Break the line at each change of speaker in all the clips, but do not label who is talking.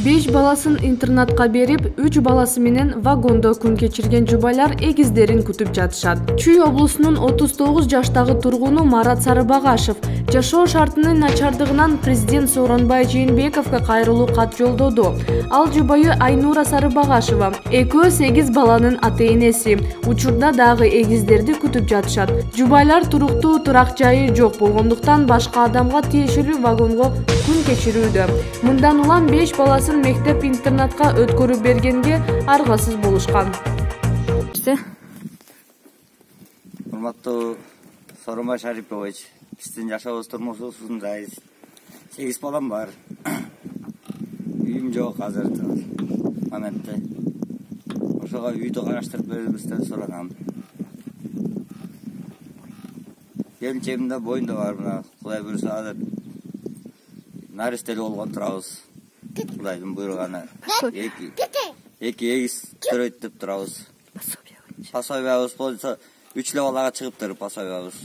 5 баласын интернатка берип, 3 баласы менен вагондо күн кечирген жубайлар эгиздерин күтүп жатышат. Чүй облусунун 39 жаштагы тургуну Марат Сарыбагашев жашоо шартынын начардыгынан президент Сооронбай Жээнбековго кайрылуу кат жолдоду. Ал жубайы Айнура Сарыбагашева, экөө 8 баланын ата-энеси. Учурда дагы эгиздерди күтүп жатышат. Жубайлар туруктуу турак жайы жок болгондуктан башка адамга тиешелүү вагонго күн кечирүүдө. Мындан улам 5 баласын мектеп-интернатка өткөрүп бергенге аргасыз болушкан.
Урматтуу Сооронбай Шарипович, биздин жашообуз турмушубуздун жайы 8 балам бар. Үйүм жок азыр моментте. Ошого үйдү караштырып берүүбүздөн сурагам. Келинчегимде боюнда бар, мына Кудай буйруса азыр наристелүү болгон турабыз. Кудайдын буйругана. Эки эгиз төрөйт деп турабыз. Пособиябыз болсо 3 балага чыгыптыр пособиябыз.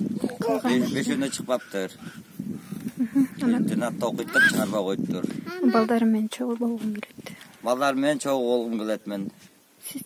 5-өндө чыкпаптыр. Интернатта окуйт деп чыгарбай коюптур.
Балдарым менен чогуу болгум келет.
Балдар менен чогуу болгум келет мен.
Siz